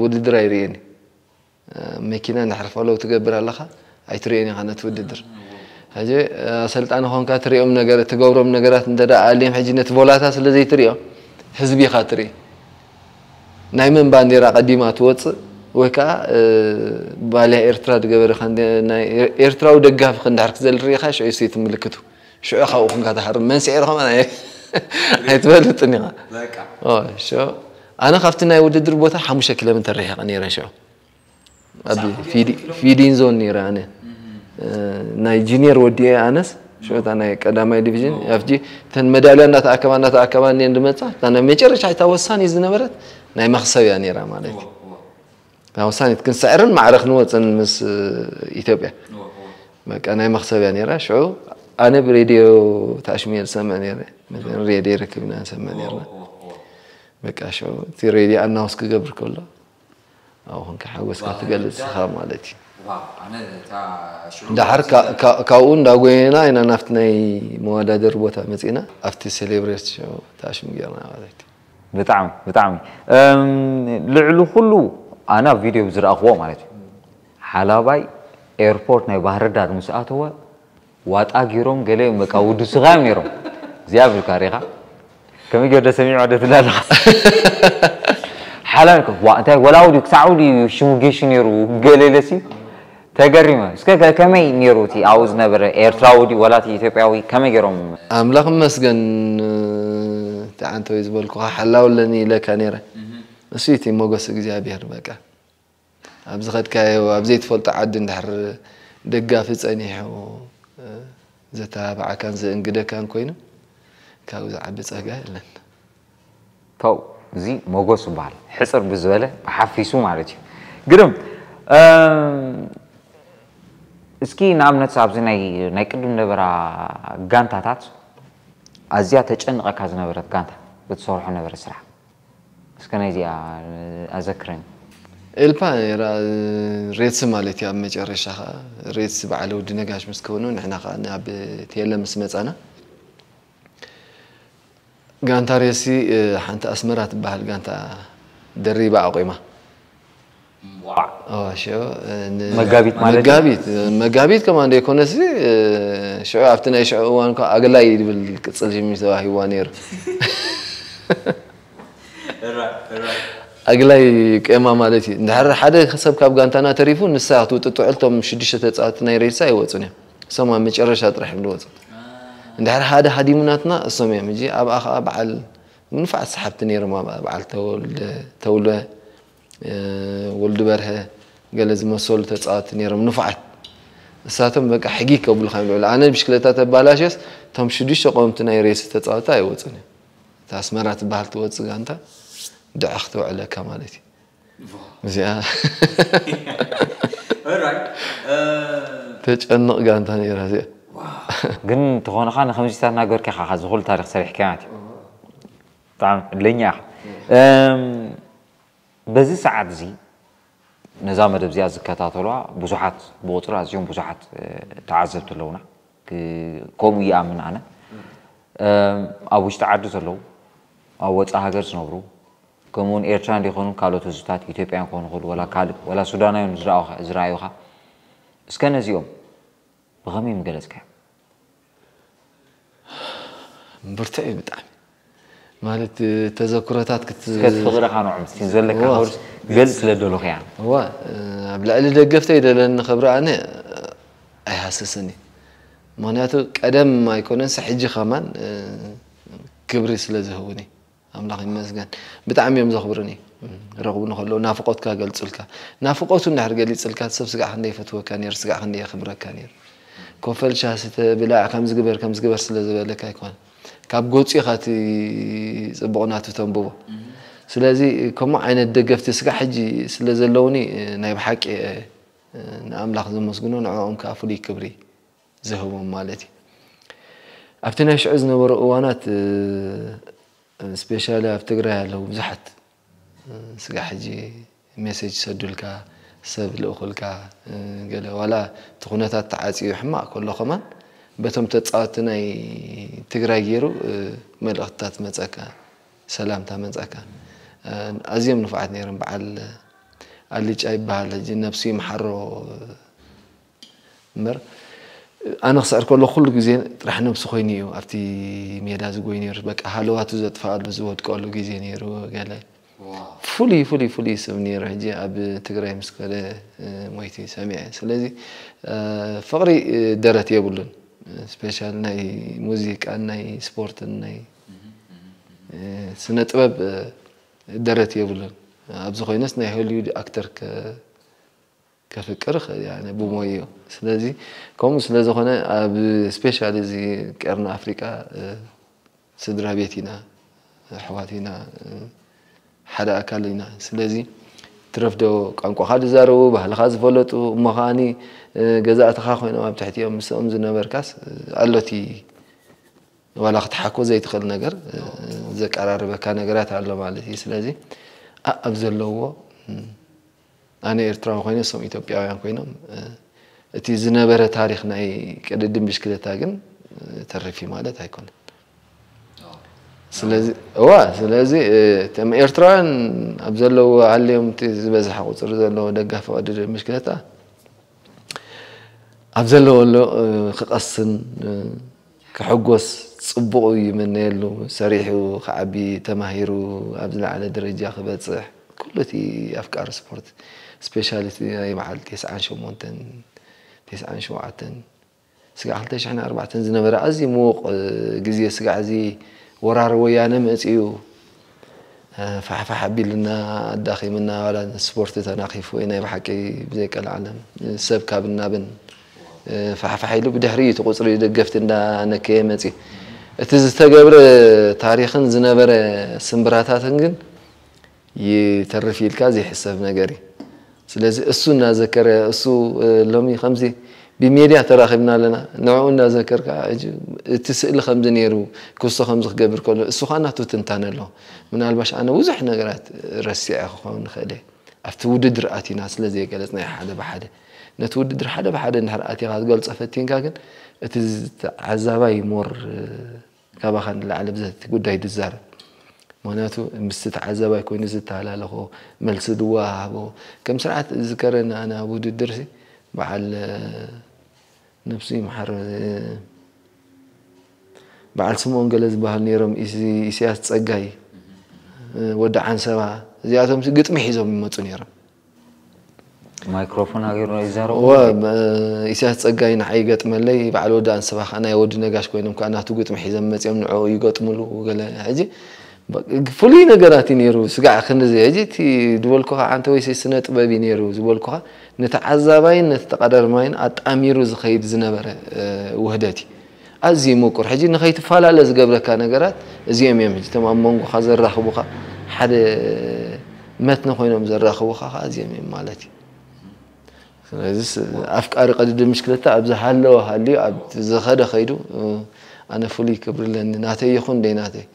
ውድድር ኣይርእየን እዩ። መኪና እንድሕር ፎሎው ትገብር ኣለኻ ኣይትርእዮን ኢኻ ነቲ ውድድር። ሕጂ ኣሰልጣኒ ኾንካ ትሪኦም ነገር ትገብሮም ነገራት እንተ ደኣ ኣልዮም ሕጂ ነቲ ቮላታ ስለ ዘይትሪኦ ህዝቢ ኢኻ ትርኢ። ናይ መን ባንዴራ ቀዲማ ትወፅእ ወይ ከዓ ባልያ ኤርትራ ዝገበረ ኤርትራዊ ደጋፊ ክንድሕር ክዘል ርኢኻ ሽዑ ሲ ትምልክቱ ሽዑ ካብኡ ኹንካ ትሃርም መን ስዒሩ ከማን ኣይትፈልጥን ኢኻ። ኣነ ካብቲ ናይ ውድድር ቦታ ሓሙሽተ ኪሎ ሜትር ርሒቐ ነይረ ሽዑ ኣብ ፊዲንግ ዞን ነይረ ኣነ ናይ ጂኒየር ወዲኤ ኣነስ ሽዑ እታ ናይ ቀዳማይ ዲቪዥን ኣብጂ እተን መዳልያ እንዳተኣከባ እንዳተኣከባ እኒአን ዝመፃ እታ ናይ መጨረሻ እታ ወሳኒ ዝነበረት ናይ መኽሰብ እያ ነይራ ማለት እዩ። እታ ወሳኒት ክንስዕርን ማዕረ ክንወፅን ምስ ኢትዮጵያ በቃ ናይ መኽሰብ እያ ነይራ። ሽዑ ኣነ ብሬድዮ ተኣሽሙ እየ ዝሰምዕ ነይረ። ሬድዮ ረክብና ንሰምዕ ነይርና። በቃ ሽዑ እቲ ሬድዮ ኣናውንስ ክገብር ከሎ ኣብኡ ኮንካ ሓጎስካ ትገልጽ ኢኻ ማለት እዩ። ድሓር ካብኡ እንዳጎየና ኢና ናብቲ ናይ መወዳደሪ ቦታ መጺእና ኣብቲ ሴሌብሬት ሽዑ ተኣሽሙ ጌርና ማለት እዩ። ብጣዕሚ ብጣዕሚ ልዕሊ ኩሉ ኣነ ኣብ ቪድዮ ዝረኣኽዎ ማለት እዩ ሓላባይ ኤርፖርት ናይ ባህርዳር ምስ ኣተወ ዋጣ ጊሮም ገለ እዮም በቃ ውዱ ስጋ እዮም ነይሮም እግዚኣብሔር ካሪኻ ከመይ ገደ ሰሚዕ ወደ ትላለኻ ሓላን ዋ እንታይ ወላው ድዩ ክሳዕ ድዩ ሽሙ ጌሹ ነይሩ ገለ ኢለሲ ተገሪመ እስከ ከመይ ነይሩ እቲ ኣብኡ ዝነበረ ኤርትራዊ ድዩ ወላ ኢትዮጵያዊ ከመይ ገይሮም ኣምላኽ መስገን ተዓንተወይ ዝበልኩኻ ሓላውለኒ ኢለካ ነይረ እሱ እቲ ሞገስ እግዚኣብሔር በቃ ኣብ ዝኸድካዮ ኣብ ዘይትፈልጦ ዓዲ እንድሕር ደጋፊ ጸኒሑ ዘተባብዓካን ዘእንግደካን ኮይኑ ካብኡ ዝዓቢ ጸጋ የለን። ተው እዚ ሞጎስ ይበሃል ሕፅር ብዝበለ ብሓፊሱ ማለት እዩ ግርም እስኪ ንኣብነት ኣብዚ ናይ ቅድም ነበራ ጋንታታት ኣዝያ ተጨንቐካ ዝነበረት ጋንታ ብትሰርሖ ነበረ ስራሕ እስከ ናይዚኣ ኣዘክረኒ። ኤልፓ ነይራ ሬትስ ማለት እዩ ኣብ መጨረሻ ከዓ ሬትስ በዓል ወዲ ነጋሽ ምስ ከውኑ ንሕና ከዓ ናብ ቴለ ምስ መፃና ጋንታ ሬትሲ ሓንቲ ኣስመራ ትበሃል ጋንታ ደሪባ ኣቑማ መጋቢት ማለት መጋቢት መጋቢት ከማን ዘይኮነሲ ሽዑ ኣብቲ ናይ ሽዑ እዋን እኳ ኣግላይ ዝብል ቅፅል ሽም ተዋሂብዋ ነይሩ ኣግላይ ቄማ ማለት እዩ እንድሕር ሓደ ሰብ ካብ ጋንታና ተሪፉ ንሳ ክትውጥጥዕል እቶም ሽዱሽተ ተፃወቲ ናይ ሬድሳ ኣይወፁን እዮም እሶም ኣብ መጨረሻ ጥራሕ እዮም ዝወፁ እንድሕር ሓደ ሃዲሙ ናትና እሶም እዮም ሕጂ ኣብኣ ከዓ በዓል ንፉዓት ሰሓብቲ ነይሮም ኣብኣ በዓል ተውለ ወልዱ በርሀ ገለ ዝመሰሉ ተፃወቲ ነይሮም ንፉዓት እሳቶም በቃ ሕጊ ከብሉካ እዮም ልዕሉ ኣነ ብሽክለታ ተባላሽዮስ እቶም ሽዱሽተ ቆምቲ ናይ ሬስ ተፃወቲ ኣይወፁን እዮም እታ ኣስመራ ትበሃል ትወፅእ ጋንታ ድዕኽ ትውዕለካ ማለት እዩ እዚኣ ተጨንቕ ጋንታ ነይራ እዚኣ ግን ተኾንኻ ንከምዚታት ናገርካ ኢኻ ዝኹሉ ታሪክ ሰሪሕካ ማለት እዩ ብጣዕሚ ዕድለኛ ኢኻ በዚ ሰዓት እዚ ነዛ መደብ እዚኣ ዝከታተሏ ብዙሓት ብቁፅሪ ኣዝዮም ብዙሓት ተዓዘብቲ ኣለውና ከምኡ ይኣምን ኣነ ኣብ ውሽጢ ዓዲ ዘለዉ ኣብ ወፃኢ ሃገር ዝነብሩ ከምኡውን ኤርትራን ዘይኮኑ ካልኦት ህዝብታት ኢትዮጵያን ክኾኑ ይኽእሉ ወላ ካልእ ወላ ሱዳናውያን ዝረኣዩኻ እስከ ነዚኦም ብኸመይ ምገለፅካዮም ብርቱዕ እዩ ብጣዕሚ ማለት ተዘክሮታት እስከ ፍቕርኻ ንዖም እስቲ ዘለካ ክብርስ ገልፅ ስለ ደለኹ እያ እዋ ኣብ ልዕሊ ደገፍተይ ዘለኒ ክብሪ ኣነ ኣይሃስስን እዩ ምክንያቱ ቀደም ኣይኮነንስ ሕጂ ከማን ክብሪ ስለ ዝህቡኒ ኣምላኽ ይመስገን። ብጣዕሚ እዮም ዘኽብሩኒ። ረኽቡ ንኸለዉ ናፍቖትካ ገልጹልካ። ናፍቖቱ እንድሕር ገሊጽልካ ሰብ ስጋዕ ክንደይ ይፈትወካ ነይሩ፣ ስጋዕ ክንደይ የኽብረካ ነይሩ። ኮፈል ሻሂ ስተ ብላዕ ከምዚ ግበር ከምዚ ግበር ስለ ዝበለካ ኣይኮነን። ካብ ገጹ ኢኻ እቲ ጽቡቕ ናቱ ተንብቦ። ስለዚ ከምኡ ዓይነት ደገፍቲ ስጋዕ ሕጂ ስለ ዘለዉኒ ናይ ብሓቂ ንኣምላኽ ዘመስግኖ ንዕኦም ከኣ ፍሉይ ክብሪ ዝህቦም ማለት እዩ። ኣብቲ ናይ ሽዑ ዝነበሩ እዋናት ስፔሻሊ ኣብ ትግራይ ኣለዉ ብዙሓት ስጋ ሕጂ ሜሴጅ ይሰዱልካ ሰብ ልእኹልካ ገለ ዋላ እቲ ኩነታት ተዓፅዩ ሕማቕ ከሎ ከማን በቶም ተፃወቲ ናይ ትግራይ ገይሩ መልእኽትታት መፀካ ሰላምታ መፀካ ኣዝዮም ንፉዓት ነይሮም በዓል ኣልጫ ይበሃል ሕጂ ነብሱ ይምሓሮ እምበር ኣነ ክስዕር ከሎ ኩሉ ግዜ ጥራሕ ነብሱ ኮይኑ እዩ ኣብቲ ሜዳ ዝጎይ ነይሩ በቃ ሃለዋቱ ዘጥፍኣሉ ዝወድቀሉ ግዜ ነይሩ ገለ ፍሉይ ፍሉይ ፍሉይ ሰብ ነይሩ ሕጂ ኣብ ትግራይ ምስ ከደ ሞይቲ ሰሚዐ ስለዚ ፍቕሪ ደረት የብሉን ስፔሻል ናይ ሙዚቃን ናይ ስፖርትን ናይ ስነ ጥበብ ደረት የብሉን ኣብዚ ኮይነስ ናይ ሆሊውድ ኣክተር ከፍቅር ይኽእል እያ ብሞዮ ስለዚ ከምኡ ስለ ዝኾነ ኣብ ስፔሻሊ እዚ ቀርኒ ኣፍሪቃ ስድራ ቤት ኢና ኣሕዋት ኢና ሓደ ኣካል ኢና ስለዚ ትረፍዶ ቋንቋኻ ዝዛረቡ ባህልኻ ዝፈለጡ እሞ ከዓኒ ገዛእትኻ ኮይኖም ኣብ ትሕቲኦም ምስኦም ዝነበርካስ ኣሎቲ ዋላ ክትሓኮ ዘይትኽእል ነገር ዘቀራርበካ ነገራት ኣሎ ማለት እዩ ስለዚ ኣብ ዘለውዎ ኣነ ኤርትራዊ ኮይነ እሶም ኢትዮጵያውያን ኮይኖም እቲ ዝነበረ ታሪክ ናይ ቅድድም ብሽክለታ ግን ተሪፊ ማለት ኣይኮነን ስለዚ እዋ ስለዚ እቶም ኤርትራውያን ኣብ ዘለዎ ኣለዮም እቲ ዝበዝሐ ቁፅሪ ዘለዎ ደጋፊ ቅድድም ብሽክለታ ኣብ ዘለዎ ኣሎ ክቐስን ክሕጎስ ጽቡቕ እዩ ይምነየሉ ሰሪሑ ክዓቢ ተማሂሩ ኣብ ዝለዓለ ደረጃ ክበጽሕ ኩሉ እቲ ኣፍቃሪ ስፖርት ስፔሻሊ ናይ በዓል ቴስዓን ሸሞንተን ቴስዓን ሸውዓተን ስጋዕ ክልተ ሽሕን ኣርባዕተን ዝነበረ ኣዝዩ ምዉቕ ግዜ ስጋዕ እዚ ወራር ወያነ መጺኡ ፋሕፋሕ ኣቢልና ኣዳኺምና ዋላ ስፖርት ተናኺፉ ናይ ብሓቂ ብዘይቀልዓለም ሰብ ካብ እናብን ፋሕፋሕ ኢሉ ብድሕሪ እቲ ቁፅሪ ደገፍቲ እንዳነከየ መፂ እቲ ዝተገብረ ታሪክን ዝነበረ ስምብራታትን ግን ይተርፍ ኢልካ ዘይሕሰብ ነገር እዩ ስለዚ እሱ እናዘከረ እሱ ሎሚ ከምዚ ብሜድያ ተራኺብና ኣለና ንዕኡ እናዘከርካ እቲ ስእሊ ከምዚ ነይሩ ክስቶ ከምዚ ክገብር ከሎ እሱ ከዓ ናቱ ትንታነ ኣሎ ምናልባሽ ኣነ ብዙሕ ነገራት ረሲዐ ክኸውን ንኽእል እየ ኣብቲ ውድድር ኣቲና ስለ ዘይገለፅና ሓደ ብሓደ ነቲ ውድድር ሓደ ብሓደ እንድሕር ኣቲኻ ዝገልፆ ፈቲንካ ግን እቲ ተዓዛባይ ሞር ካባኻ ንላዕሊ ብዘቲ ጉዳይ ድዛረብ ምክንያቱ ምስቲ ተዓዛባይ ኮይኑ ዝተሃላለኾ መልሲ ድወሃሃቦ ከም ስርዓት ዝከረና ኣነ ኣብ ውድድር በዓል ነብሱ ይምሓር በዓል ስምኦን ገለ ዝበሃል ነይሮም ኢስያስ ፀጋይ ወዲ ዓንሰባ እዚኣቶም ግጥሚ ሒዞም ይመፁ ነይሮም ማይክሮፎን ሃገርና ይዛረቡ ኢሳያስ ፀጋይ ንዓይ ይገጥመለይ በዓል ወዲ ኣንስባ ከዓ ናይ ወዲ ነጋሽ ኮይኖም ከዓ ናቱ ግጥሚ ሒዘም መፅኦም ንዕኡ ይገጥምሉ ገለ ሕጂ ፍሉይ ነገራት እዩ ነይሩ ስጋዕ ክንዚ ሕጂ እቲ ዝበልኩኻ ዓንተ ወይሰይ ስነ ጥበብ እዩ ነይሩ ዝበልኩኻ ንተዓዛባይን ነቲ ተቐዳርማይን ኣጣሚሩ ዝኸይድ ዝነበረ ውህደት እዩ ኣዝዩ ምቁር ሕጂ ንኸይትፈላለ ዝገብረካ ነገራት እዚኦም እዮም ሕጂ እቶም ኣብ መንጎኻ ዘራኽቡኻ ሓደ መትኒ ኮይኖም ዘራኽቡኻ ከዓ እዚኦም እዮም ማለት እዩ ስለዚ ኣፍቃሪ ቅድድም ብሽክለታ ኣብ ዝሃለወ ሃልዩ ኣብ ዝኸደ ከይዱ ኣነ ፍሉይ ክብሪ ኣለኒ ናተይ ይኹን ደይናተይ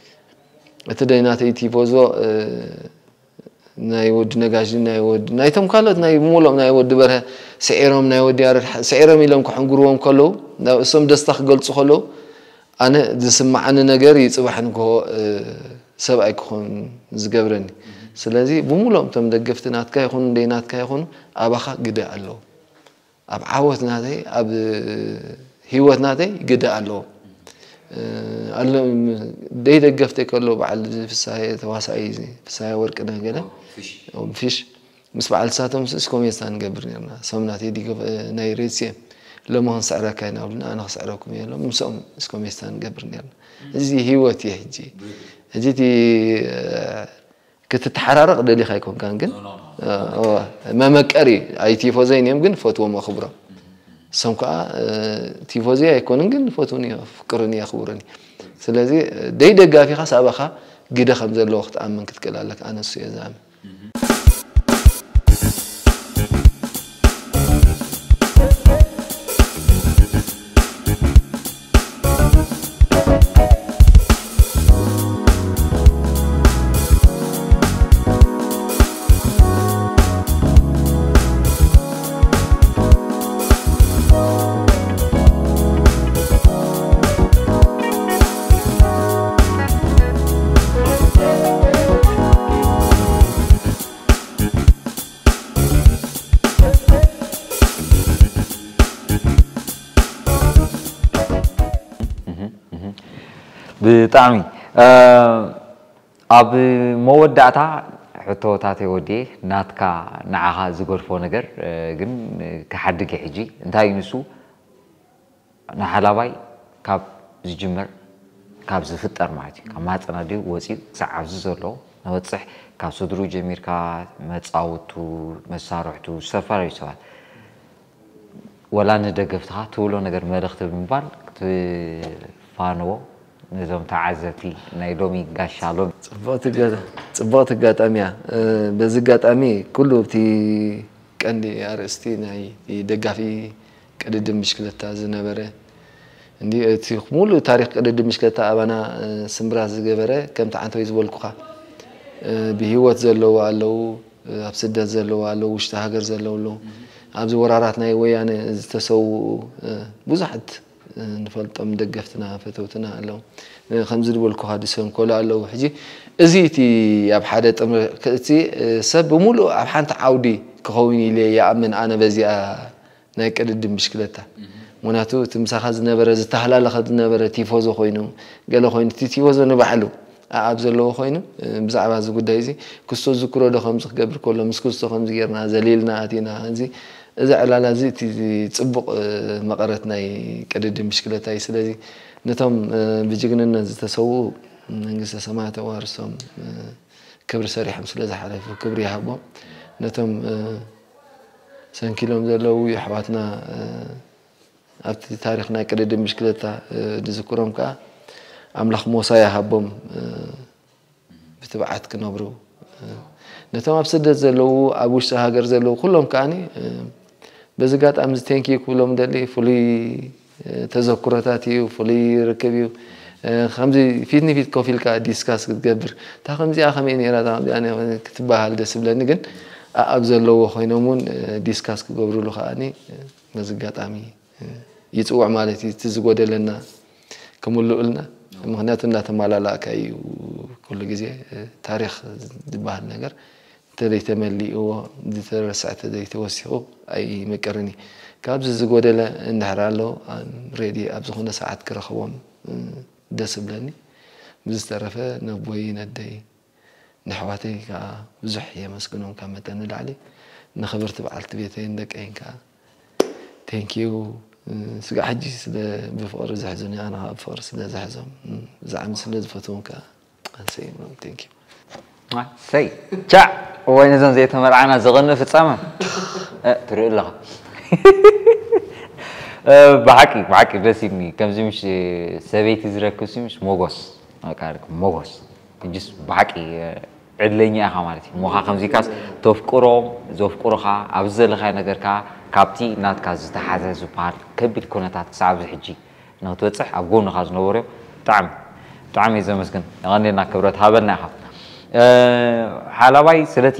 እቲ ደይናተይ ቲፎዞ ናይ ወዲ ነጋሽ ናይ ወዲ ናይቶም ካልኦት ናይ ሙሉኦም ናይ ወዲ በርሀ ስዒሮም ናይ ወዲ ያረድ ስዒሮም ኢሎም ክሕንግርዎም ከለዉ እሶም ደስታ ክገልፁ ከለዉ ኣነ ዝስማዓኒ ነገር ይፅባሕ ንግሆ ሰብኣይ ክኾን ዝገብረኒ ስለዚ ብሙሉኦም እቶም ደገፍቲ ናትካ ይኹኑ ደይ ናትካ ይኹኑ ኣባኻ ግደ ኣለዎ ኣብ ዓወት ናተይ ኣብ ህይወት ናተይ ግደ ኣለዎ ደይ ደገፍተይ ከሎ በዓል ፍሳሀ ተዋሳኢ ፍሳሀ ወርቅነህ ገለ ፊሽ ምስ በዓል ሳቶም ስስ ኮሜስታ ንገብር ነርና ሶም ናተይ ናይ ሬድሲኤም ሎሚ ክንስዕረካ ኢና ብሉና፣ ኣነ ክስዕረኩም እየ ኢሎም ምስኦም እስኮሜስታ ንገብር ነርና። እዚ ህይወት እዩ። ሕጂ ሕጂ እቲ ክትተሓራረቕ ደሊኻ ኣይኮንካን፣ ግን መመቀሪ ኣይ ቲፎዘይን እዮም፣ ግን ፈትዎም ኣኽብሮም። እሶም ከዓ ቲፎዘይ ኣይኮኑን፣ ግን ፈትውን የፍቅሩን የኽብሩን። ስለዚ ደይ ደጋፊኻ ሳባኻ ግደ ከም ዘለዎ ክትኣምን ክትክእል ኣለካ። ኣነ እሱ እየ ዝኣምን። ብጣዕሚ ኣብ መወዳእታ ሕቶታተይ ወዲኤ ናትካ ንዓኻ ዝገድፎ ነገር ግን ክሓድግ ሕጂ እንታይ እዩ ንሱ ንሓላባይ ካብ ዝጅመር ካብ ዝፍጠር ማለት እዩ ካብ ማህፀን ኣዲኡ ወፂኡ ክሳብ ኣብዚ ዘሎ ንበፅሕ ካብ ስድሩ ጀሚርካ መፃውቱ መሳርሕቱ ዝተፈላለዩ ሰባት ወላ ንደገፍትኻ ትብሎ ነገር መልእኽቲ ብምባል ክትፋነዎ ነዞም ተዓዘብቲ ናይ ሎሚ ጋሻ ሎሚ ፅቡቕቲ ኣጋጣሚ እያ። በዚ ኣጋጣሚ ኩሉ እቲ ቀንዲ ኣርእስቲ ናይ ደጋፊ ቅድድም ብሽክለታ ዝነበረ እንዲ እቲ ሙሉእ ታሪኽ ቅድድም ብሽክለታ ኣባና ስምብራት ዝገበረ ከምቲ ዓንተወይ ዝበልኩኻ ብህይወት ዘለዉ ኣለዉ፣ ኣብ ስደት ዘለዉ ኣለዉ፣ ውሽጢ ሃገር ዘለዉ ኣለዉ። ኣብዚ ወራራት ናይ ወያነ ዝተሰውኡ ብዙሓት ንፈልጦም ደገፍትና ፈተውትና ኣለዉ። ከምዚ ዝበልኩኻ ድሰንኮሉ ኣለዉ። ሕጂ እዚ እቲ ኣብ ሓደ ጥምር እቲ ሰብ ብምሉእ ኣብ ሓንቲ ዓውዲ ክኸውን ኢለ ይኣምን ኣነ በዚኣ ናይ ቅድድም ብሽክለታ። ምክንያቱ እቲ ምሳኻ ዝነበረ ዝተሃላለኸ ዝነበረ ቲፎዞ ኮይኑ ገለ ኮይኑ እቲ ቲፎዞ ንባዕሉ ኣኣብ ዘለዎ ኮይኑ ብዛዕባ እዚ ጉዳይ እዚ ክስቶ ዝክሮ ዶ ከምዚ ክገብር ከሎ ምስ ክስቶ ከምዚ ጌርና ዘሊልና ኣቲና እዚ እዚ ዕላላ እዚ እቲ ፅቡቕ መቐረት ናይ ቅድድም ብሽክለታ እዩ። ስለዚ ነቶም ብጅግንነት ዝተሰውኡ መንግስተ ሰማያት ኣዋርሶም ክብሪ ሰሪሖም ስለ ዝሓለፉ ክብሪ ይሃቦም። ነቶም ሰንኪሎም ዘለዉ የሕዋትና ኣብቲ ታሪኽ ናይ ቅድድም ብሽክለታ ዝዝክሮም ከዓ ኣምላኽ ሞሳ ይሃቦም ብትብዓት ክነብሩ ነቶም ኣብ ስደት ዘለዉ ኣብ ውሽጢ ሃገር ዘለዉ ኩሎም ከዓኒ በዚ ኣጋጣሚ እዚ ቴንኪዩ ክብሎም ደሊ ፍሉይ ተዘክሮታት እዩ፣ ፍሉይ ርክብ እዩ። ከምዚ ፊት ንፊት ኮፍ ኢልካ ዲስካስ ክትገብር እታ ከምዚኣ ከመይ ነይራ እታ ከምዚኣ ክትበሃል ደስ ይብለኒ፣ ግን ኣብ ዘለዎ ኮይኖም እውን ዲስካስ ክገብርሉ ከዓኒ በዚ ኣጋጣሚ ይፅውዕ ማለት እዩ። እቲ ዝጎደለና ክምልኡልና ምክንያቱ እናተማላላእካ እዩ ኩሉ ግዜ ታሪክ ዝበሃል ነገር እንተዘይተመሊእዎ ዝተረስዐ ተዘይተወሲኹ ኣይምቅርን እዩ። ካብዚ ዝጎደለ እንድሕር ኣሎ ሬዲ ኣብ ዝኾነ ሰዓት ክረኽቦም ደስ እብለኒ። ብዝተረፈ ነቦይ ነደይ ንኣሕዋተይ ከዓ ብዙሕ የመስግኖም ካብ መጠን ንላዕሊ ንኽብርቲ በዓልቲ ቤተይን ደቀይን ከዓ ቴንኪዩ። ስጋዕ ሕጂ ስለ ብፍቕሪ ዝሕዙኒ ኣነ ከዓ ብፍቕሪ ስለ ዝሕዞም ብዛዕሚ ስለ ዝፈትዎም ከዓ ኣንሰይኖም ቴንኪዩ። ሰይ ቻዕ እዋይ ነዞም ዘይተመርዓና ዘቐንእ ፍጻመ ትርኢ ኣለኻ። ብሓቂ ብሓቂ ደስ ኢልኒ ከምዚ ምሽ ሰበይቲ ዝረክብ ሲ ምሽ ሞጎስ ሞጎስ እጅስ ብሓቂ ዕድለኛ ኢኻ ማለት እዩ። ሞኻ ከምዚካስ ተፍቅሮም ዘፍቅሩኻ ኣብዚ ዘለኻዮ ነገርካ ካብቲ ናትካ ዝተሓዘ ዝበሃል ከቢድ ኩነታት ክሳብ ኣብዚ ሕጂ ንክትበፅሕ ኣብ ጎንኻ ዝነበሩ እዮም። ብጣዕሚ ብጣዕሚ እየ ዘመስግን። የቐንየልና ክብረት ሃበልና ኢኻ። ሓላባይ ስለቲ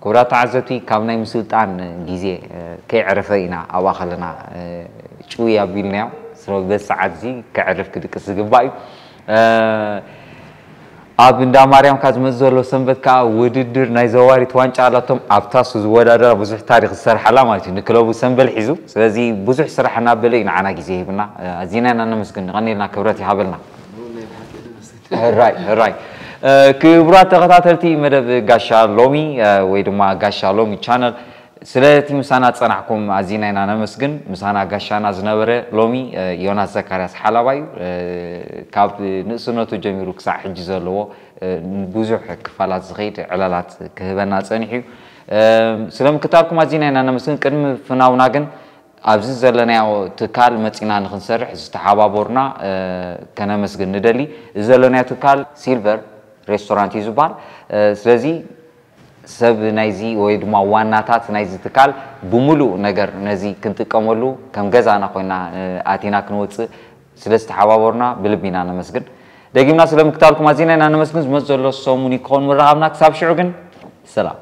ክቡራት ተዓዘብቲ ካብ ናይ ምስልጣን ግዜ ከይዕረፈ ኢና ኣብኣ ከለና ጭውይ ኣቢልናዮ። ስለዚ በዚ ሰዓት እዚ ከዕርፍ ክድቅስ ዝግባእ እዩ። ኣብ እንዳ ማርያም ካብ ዝመፅእ ዘሎ ሰንበት ከዓ ውድድር ናይ ዘዋሪት ዋንጫ ኣላቶም ኣብታ እሱ ዝወዳደራ ብዙሕ ታሪክ ዝሰርሓላ ማለት እዩ ንክለቡ ሰንበል ሒዙ ስለዚ ብዙሕ ስራሕ እናበለ እዩ ንዓና ግዜ ሂብና ኣዚና ኢና ነመስግን ቀኒልና ክብረት ይሃበልና ራይ ራይ ክቡራት ተኸታተልቲ መደብ ጋሻ ሎሚ ወይ ድማ ጋሻ ሎሚ ቻነል ስለቲ ምሳና ዝጸናሕኩም ኣዚና ኢና ነመስግን። ምሳና ጋሻና ዝነበረ ሎሚ ዮናስ ዘካርያስ ሓላባ እዩ። ካብ ንእስነቱ ጀሚሩ ክሳዕ ሕጂ ዘለዎ ብዙሕ ክፋላት ዝኸይድ ዕላላት ክህበና ጸኒሑ እዩ። ስለምክታልኩም ኣዚና ኢና ነመስግን። ቅድሚ ፍናውና ግን ኣብዚ ዘለናዮ ትካል መጺና ንክንሰርሕ ዝተሓባበሩና ከነመስግን ንደሊ። እዚ ዘለናዮ ትካል ሲልቨር ሬስቶራንት እዩ ዝበሃል። ስለዚ ሰብ ናይዚ ወይ ድማ ዋናታት ናይዚ ትካል ብምሉእ ነገር ነዚ ክንጥቀመሉ ከም ገዛና ኮይና ኣቲና ክንወፅእ ስለ ዝተሓባበሩና ብልቢ ኢና ነመስግን። ደጊምና ስለ ምክታልኩም ኣዚና ኢና ነመስግን። ዝመፅ ዘሎ ሰሙን ይከውን ምረኻብና። ክሳብ ሽዑ ግን ሰላም።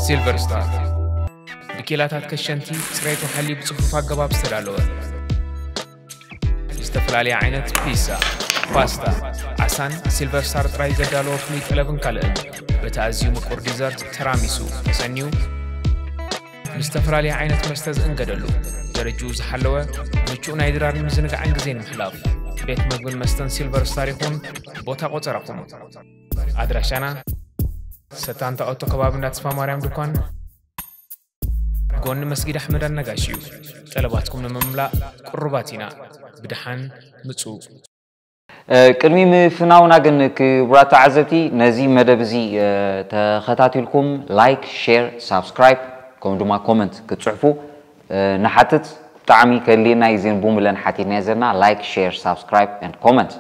ሲልቨር ስታር ብኬላታት ከሸንቲ ጽሬቱ ሓልዩ ብጽፉፍ ኣገባብ ዝተዳለወ ዝተፈላለየ ዓይነት ፒዛ፣ ፓስታ፣ ዓሳን ሲልቨር ስታር ጥራይ ዘዳለዎ ፍሉይ ጠለብን ካልእን በቲ ኣዝዩ ምቁር ዲዘርት ተራሚሱ ተሰንዩ ምስ ዝተፈላለየ ዓይነት መስተ ዝእንገደሉ ደረጅኡ ዝሓለወ ምቹእ ናይ ድራርን ምዝንጋዕን ግዜ ንምሕላፍ ቤት መግብን መስተን ሲልቨር ስታር ይኹን። ቦታ ቆጸራኹም ኣድራሻና ሰታንታ ኦቶ ከባቢ እንዳተስፋ ማርያም ድኳን ጎኒ መስጊድ ኣሕመድ ኣነጋሽ እዩ። ጠለባትኩም ንምምላእ ቅሩባት ኢና። ብድሓን ምጹ። ቅድሚ ምፍናውና ግን ክቡራት ተዓዘብቲ ነዚ መደብ እዚ ተኸታቲልኩም ላይክ፣ ሼር፣ ሳብስክራይብ ከምኡ ድማ ኮመንት ክትፅሕፉ ንሓትት። ብጣዕሚ ከድልየና እዩ ዜን ቡምለን ሓቲትናዮ ዘለና ላይክ፣ ሼር፣ ሳብስክራይብ ኤንድ ኮመንት።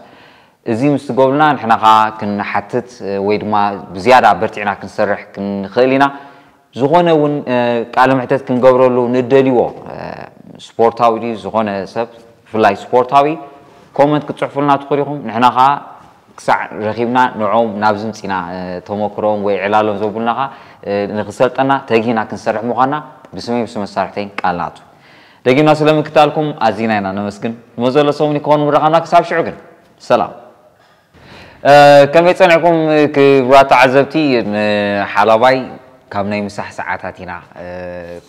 እዚ ምስ ትገብሩና ንሕና ከዓ ክንሓትት ወይ ድማ ብዝያዳ በርቲዕና ክንሰርሕ ክንኽእል ኢና። ዝኾነ እውን ቃለ ምሕተት ክንገብረሉ ንደልዎ ስፖርታዊ ድዩ ዝኾነ ሰብ ብፍላይ ስፖርታዊ ኮመንት ክትፅሕፉልና ትኽእሉ ኢኹም። ንሕና ከዓ ክሳዕ ረኺብና ንዕኦም ናብ ዝምፅና ተመክሮም ወይ ዕላሎም ዘብሉና ከዓ ንክሰልጠና ተጊህና ክንሰርሕ ምዃንና ብስመይ ብስም መሳርሕተይን ቃል ንኣቱ። ደጊምና ስለምክታልኩም ኣዚና ኢና ነመስግን። ንመዘሎ ሰሙን ይከውን ምረኻብና። ክሳብ ሽዑ ግን ሰላም። ከመይ ጸኒሕኩም ክቡራት ተዓዘብቲ? ንሓላባይ ካብ ናይ ምሳሕ ሰዓታት ኢና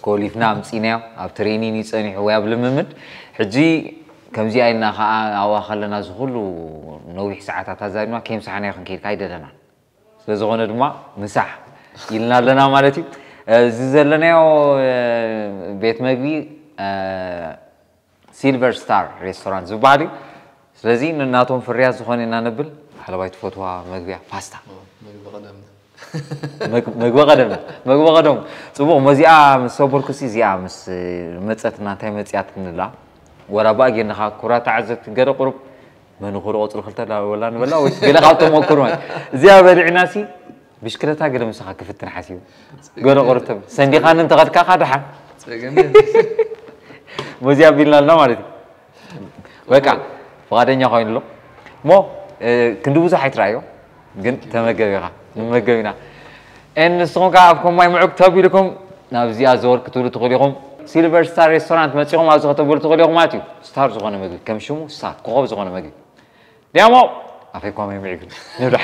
ኮሊፍና ኣምጺእናዮ። ኣብ ትሬኒን እዩ ጸኒሑ ወይ ኣብ ልምምድ። ሕጂ ከምዚኣ ኢልና ከኣ ኣብኣ ከለና እዚ ኩሉ ነዊሕ ሰዓታት ኣዛሪብና ከየምሳሕናዮ ክንከይድ ኣይደለናን። ስለ ዝኾነ ድማ ምሳሕ ኢልና ኣለና ማለት እዩ። እዚ ዘለናዮ ቤት መግቢ ሲልቨር ስታር ሬስቶራንት ዝበሃል እዩ። ስለዚ ንናቶም ፍርያት ዝኾነ ኢና ነብል። ሓለባይ ትፈትዋ መግቢ እያ፣ ፓስታ። መግቢ ቀደም መግ- መግቢ ቀደም መግቢ ቀደም ጽቡቕ። መዚኣ ምስ ሰበርኩሲ እዚኣ ምስ መጸትና እንታይ መጽያት ክንላ ወላ ባእ ጌርና ኩራ ተዓዘብቲ ገለ ቁሩብ መን ኹሩ ቆጽሪ ክልተ ላ- ወላ ንበላ ወይ ገለ ካብ ተመክሮ ማለት እዚኣ በሊዕና ሲ ብሽክለታ ገለ ምሳኻ ክፍትን ሓሲቡ ገለ ቁሩብ ተብ ሰንዲኻኒ እንተኸድካ ኻ ደሓን ጸገም መዚኣ ቢልና ኣለና ማለት እዩ። በቃ ፍቓደኛ ኮይኑ ኣሎ እሞ ክንዲ ብዙሕ ኣይትረኣዮ ግን ተመገብ ኢኻ ንመገብ ኢና። ኤን ንስኹም ከዓ ኣብ ከማይ ምዑግ ተቢልኩም ናብ እዚኣ ዘወር ክትብሉ ትኽእሉ ኢኹም። ሲልቨር ስታር ሬስቶራንት መፂኹም ኣብዚ ከተብሉ ትኽእሉ ኢኹም ማለት እዩ። ስታር ዝኾነ ምግቢ ከም ሽሙ ስታር ኮኸብ ዝኾነ ምግቢ ዲያሞ ኣፈይ ኳማይ ምዒግ ንብላ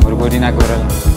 ጎድጎዲና ግበረልና።